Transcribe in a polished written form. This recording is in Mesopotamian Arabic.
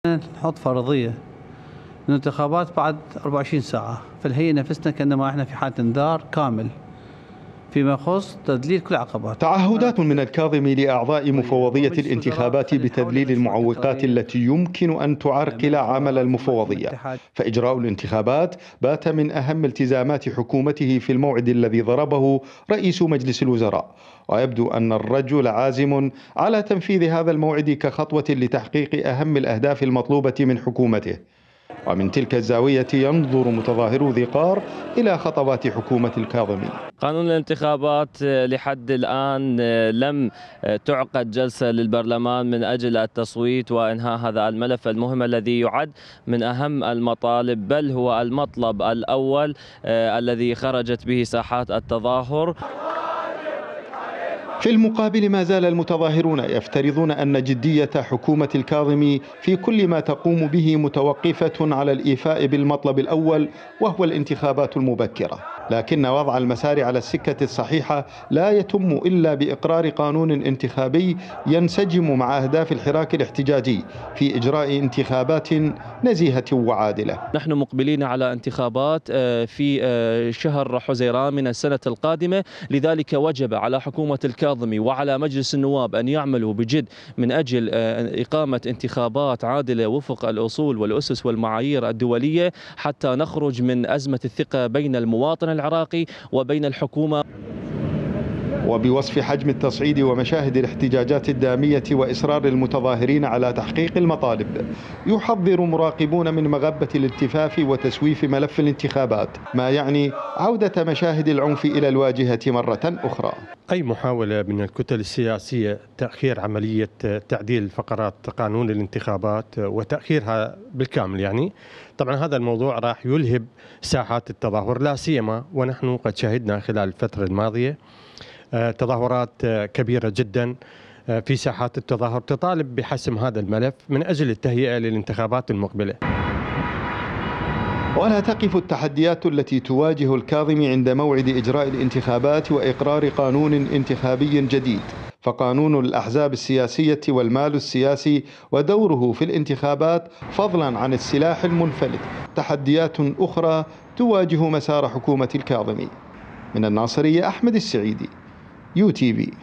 نحط فرضية الانتخابات بعد 24 ساعة، فالهيئة نفسنا كأنما احنا في حالة انذار كامل فيما يخص تذليل كل العقبات. تعهدات من الكاظمي لأعضاء مفوضية الانتخابات بتذليل المعوقات التي يمكن أن تعرقل عمل المفوضية، فإجراء الانتخابات بات من أهم التزامات حكومته في الموعد الذي ضربه رئيس مجلس الوزراء، ويبدو أن الرجل عازم على تنفيذ هذا الموعد كخطوة لتحقيق أهم الأهداف المطلوبة من حكومته. ومن تلك الزاوية ينظر متظاهرو ذي قار إلى خطوات حكومة الكاظمي. قانون الانتخابات لحد الآن لم تعقد جلسة للبرلمان من أجل التصويت وإنهاء هذا الملف المهم الذي يعد من أهم المطالب، بل هو المطلب الأول الذي خرجت به ساحات التظاهر. في المقابل ما زال المتظاهرون يفترضون أن جدية حكومة الكاظمي في كل ما تقوم به متوقفة على الإيفاء بالمطلب الأول وهو الانتخابات المبكرة، لكن وضع المسار على السكة الصحيحة لا يتم إلا بإقرار قانون انتخابي ينسجم مع أهداف الحراك الاحتجاجي في إجراء انتخابات نزيهة وعادلة. نحن مقبلين على انتخابات في شهر حزيران من السنة القادمة، لذلك وجب على حكومة الكاظمي وعلى مجلس النواب أن يعملوا بجد من أجل إقامة انتخابات عادلة وفق الأصول والأسس والمعايير الدولية حتى نخرج من أزمة الثقة بين المواطن العراقي وبين الحكومة. وبوصف حجم التصعيد ومشاهد الاحتجاجات الدامية وإصرار المتظاهرين على تحقيق المطالب، يحذر مراقبون من مغبة الالتفاف وتسويف ملف الانتخابات، ما يعني عودة مشاهد العنف إلى الواجهة مرة أخرى. أي محاولة من الكتل السياسية تأخير عملية تعديل فقرات قانون الانتخابات وتأخيرها بالكامل، يعني طبعا هذا الموضوع راح يلهب ساحات التظاهر، لا سيما ونحن قد شهدنا خلال الفترة الماضية تظاهرات كبيرة جدا في ساحات التظاهر تطالب بحسم هذا الملف من أجل التهيئة للانتخابات المقبلة. ولا تقف التحديات التي تواجه الكاظمي عند موعد إجراء الانتخابات وإقرار قانون انتخابي جديد، فقانون الأحزاب السياسية والمال السياسي ودوره في الانتخابات فضلا عن السلاح المنفلت تحديات أخرى تواجه مسار حكومة الكاظمي. من الناصرية، أحمد السعيدي، UTV.